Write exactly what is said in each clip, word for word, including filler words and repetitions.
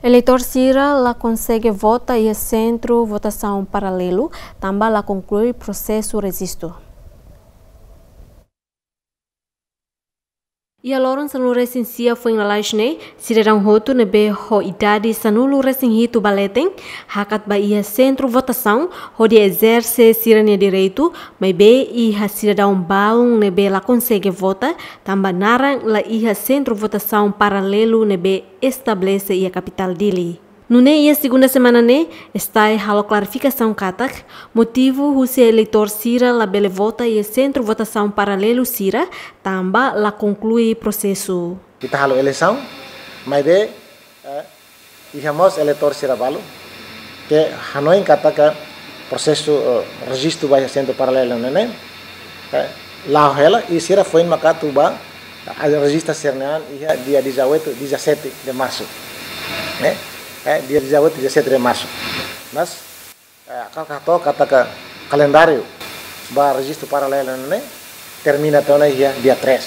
Eleitór sira la konsege vota iha sentru votasaun paralelu, tanba la konklui prosesu rejistu. Iha loron sanulu-resin-sia foin lalais ne'e, sidadaun hotu ne'ebé ho idade sanulu-resin-hitu ba leten, hakat ba iha sentru votasaun, hodi ezerse sira-nia direitu, maibé iha sidadaun balun ne'ebé la konsege vota, tanba naran la iha sentru votasaun paralelu ne'ebé estabelese iha kapitál Dili. Nune'e iha segunda semana ne'e, STAE halo klarifikasaun katak, motivu husi eleitór sira labele vota iha sentru votasaun paralelu sira, tanba la konklui prosesu. Ita halo eleisaun, maibé, eh, iha mós eleitór sira balu, ke hanoin katak prosesu, eh, rejistu ba iha sentru paralelu ne'e, eh, la'o hela, i sira foin maka atu ba, ah, rejista sira-nia an iha dia dezoito, dezassete de março. Eh, eh, dia dezoito, dezassete de março. Mas, eh, ha'u hato'o katak kalendáriu ba rejistu paralelu ne'e termina tiha ona iha dia três.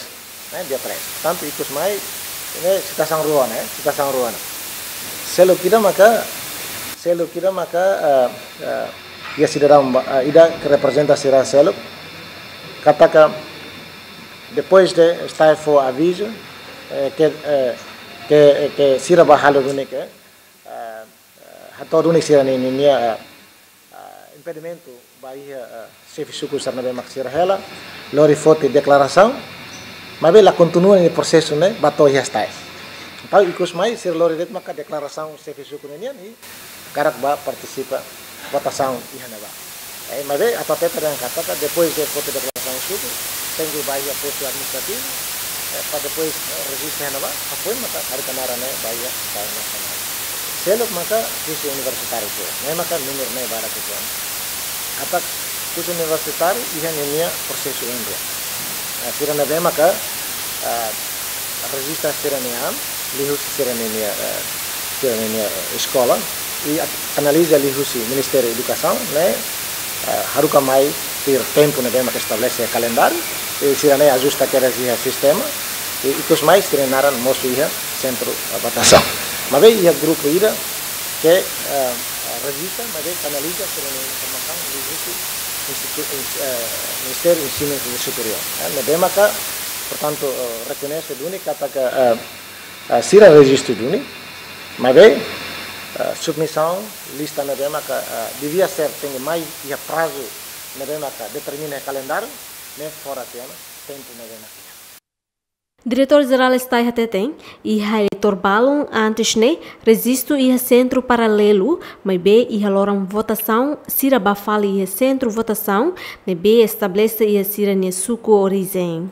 Eh, dia três. Portantu, ikus mai, ne'e situasaun rua, ne'e, situasaun rua, ne'e. Seluk ida maka, seluk ida maka, eh, eh, iha sidadaun ba, eh, ida ke reprezenta sira seluk, katak depois de STAE fó avizu, eh, ke, eh, ke, ke sira ba halo duni ke, eh, eh, hato'o duni sira-nia, nia, nia, eh, eh, impedimentu ba iha, eh, xefe suku sira ne'ebé mak sira hela, lori foti deklarasaun, maibé la kontinua nia prosesu ne'e ba to'o iha STAE. Entaun, ikus mai, sira lori de'it maka deklarasaun xefe suku ne'e nian, i hakarak ba partisipa votasaun iha ne'ebá. Eh, maibé, atu hatete dehan katak depois de foti deklarasaun suku, tenke ba iha postu administrativu, eh, para depois, eh, rejista iha ne'ebá, hafoin maka haruka naran ne'e ba iha STAE nasionál. Seluk maka kursu universitáriu sira, ne'e maka númeru ne'e barak uitoan. Katak kursu universitáriu iha ninia prosesu oin rua. Eh, sira ne'ebé maka, eh, rejista sira-nia an, liuhusi sira-nia, eh, sira-nia, eh, eskola, i a-, analiza liuhusi Ministériu Edukasaun, ne'e, eh, haruka mai tuir tempu ne'ebé mak estabelese kalendáriu, i sira-ne'e ajusta kedas iha sistema, i ikus mai sira-nia naran mosu iha sentru, eh, votasaun. Maibé iha grupu ida ke, eh, rejista, maibé kanaliza sira-nia informasaun liuhusi institu-, ins-, eh, Ministériu Ensinu Superiór. Eh, ne'ebé maka, portantu, eh, rekoñese duni katak, eh, eh, sira rejistu duni, maibé, eh, submisaun lista ne'ebé maka, eh, devia ser tenke mai iha prazu ne'ebé maka determina iha kalendáriu, ne'e fora tiha ona tempu ne'ebé mak iha. Diretór Jerál STAE hateten, iha eleitór balun antes ne'e rejistu iha sentru paralelu, maibé iha loron votasaun sira ba fali iha sentru votasaun ne'ebé estabelese iha sira-nia suku orijen.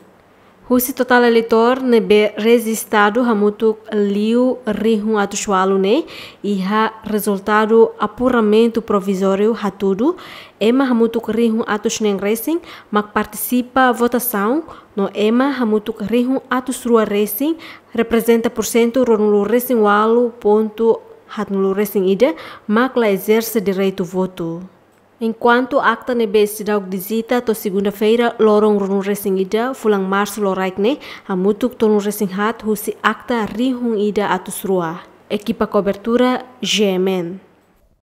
Husi totál eleitór ne'ebé rejistadu hamutuk liu rihun atus ualu ne'e, iha rezultadu apuramentu provizóriu hatudu, ema hamutuk rihun atus neen resin mak partisipa votasaun, no ema hamutuk rihun atus rua resin, reprezenta pursentu ruanulu resin ualu pontu haatnulu resin ida, mak la ezerse direitu votu. Enkuantu akta ne'ebé seidauk dizita to'o segunda-feira, loron ruanulu resin ida, fulan Marsu loraik ne'e, hamutuk tolunulu resin haat husi akta rihun ida atus rua. Ekipa kobertura, G M N.